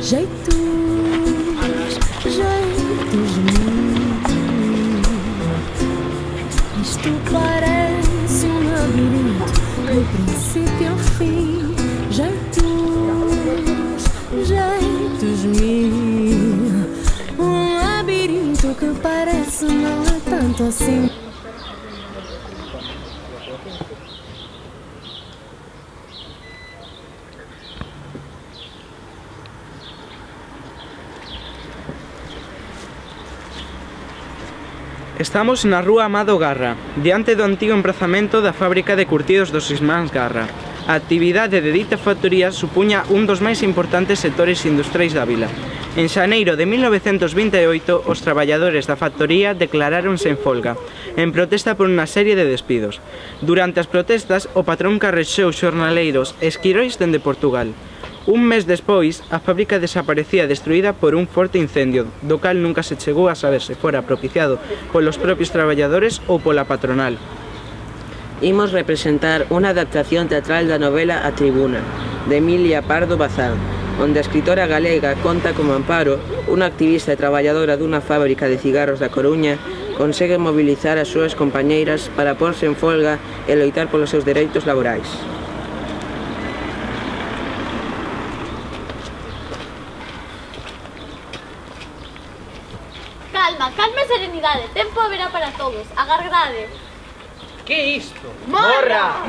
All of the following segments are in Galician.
Jeitos, jeitos meus. Isto parece um labirinto do princípio ao fim. Jeitos, jeitos mil. Um labirinto que parece não é tanto assim. Estamos na rúa Amado Garra, diante do antigo emprazamento da fábrica de curtidos dos irmáns Garra. A actividade de dita factoría supuña un dos máis importantes sectores industriais da vila. En xaneiro de 1928, os traballadores da factoría declaráronse en folga, en protesta por unha serie de despidos. Durante as protestas, o patrón carrexou xornaleiros e esquirois dende Portugal. Un mes despois, a fábrica desaparecía destruída por un forte incendio, do cal nunca se chegou a saber se fora propiciado polos propios traballadores ou pola patronal. Imos representar unha adaptación teatral da novela A Tribuna, de Emilia Pardo Bazán, onde a escritora galega conta como Amparo, unha activista e traballadora dunha fábrica de cigarros da Coruña, consegue mobilizar as súas compañeiras para porse en folga e loitar polos seus dereitos laborais. Calma, calma e serenidade, tempo haberá para todos, agardade. Que é isto? Morra!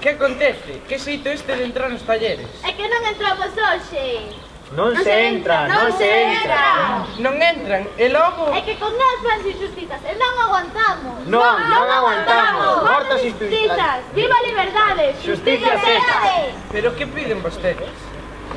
Que acontece? Que xeito este de entrar nos talleres? É que non entramos hoxe. Non se entra, non se entra. Non entran, e logo... É que con nós fans injustistas e non aguantamos. Non aguantamos. Mortas injustistas. Viva a liberdade, Justicia cesa. Pero que piden vostedes?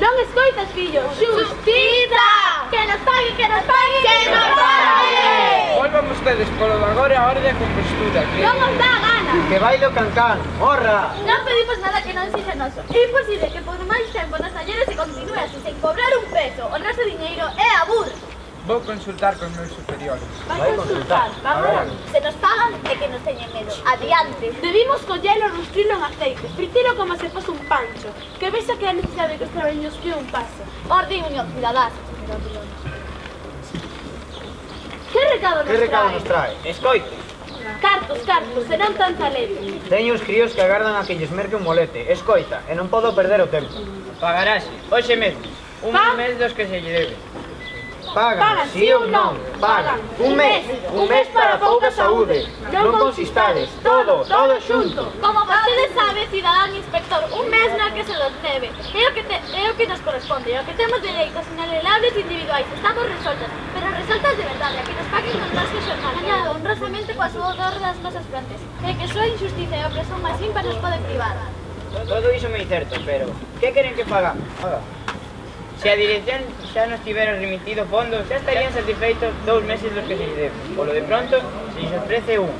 Non escoitas, fillo, xustiza! Que nos pague, que nos pague, que nos pague! Volvan vostedes polo de agora a orde a compostura, que... Non nos dá gana! Que bailo cancán, morra. Non pedimos nada que non sexa noso. É imposible que por máis tempo nas talleres se continue así, sen cobrar un peso. O noso diñeiro é aburro. Vou consultar con meus superiores. Vai consultar, vamos. Se nos pagan é que nos teñen medo. Adiante. Debimos collelo, rustrilo en aceite, fritilo como se fose un pancho. Que vexa que a necesidade que os traballos que un paso. Orde e unión, cidadás. Que recado nos trae? Escoite. Cartos, serán tanta letra. Teño os críos que agardan a que lles merque un molete. Escoita, e non podo perder o tempo. Pagarase, hoxe mesmo. Un mes dos que se lle debe. Pagan, sí ou non? Pagan. Un mes para pouca saúde. Non consistades, todo xunto. Como vostede sabe, cidadán inspector, un mes na que se nos debe. É o que nos corresponde, é o que temos dereitos inalienables individuais. Estamos resoltas, pero resoltas de verdade, a que nos paguen os nosos xornal. Añado honrosamente coa sudor das nosas frontes. É que súa injustiza e a opresión máis ímpar nos pode privar. Todo iso me é certo, pero que queren que fagamos? Se a dirección xa nos tivera remitido fondos, xa estarían satisfeitos 2 meses dos que se lle debe. Polo de pronto, se lles ofrece un.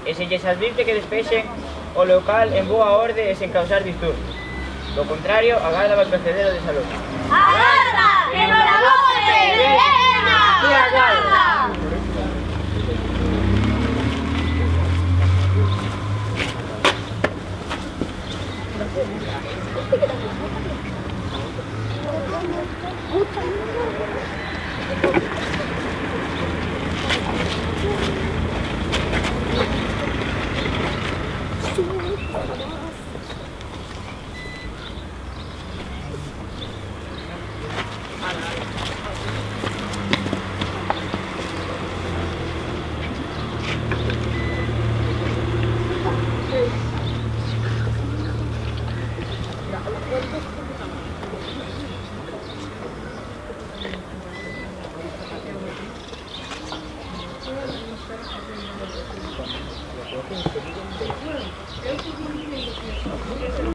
E se lles advirte que despexen o local en boa orde e sen causar disturbios. Do contrario, a garda vai proceder ao desalojo. ¡Agarda! ¡Que no la bote! ¡Venga! ¡Que agarda!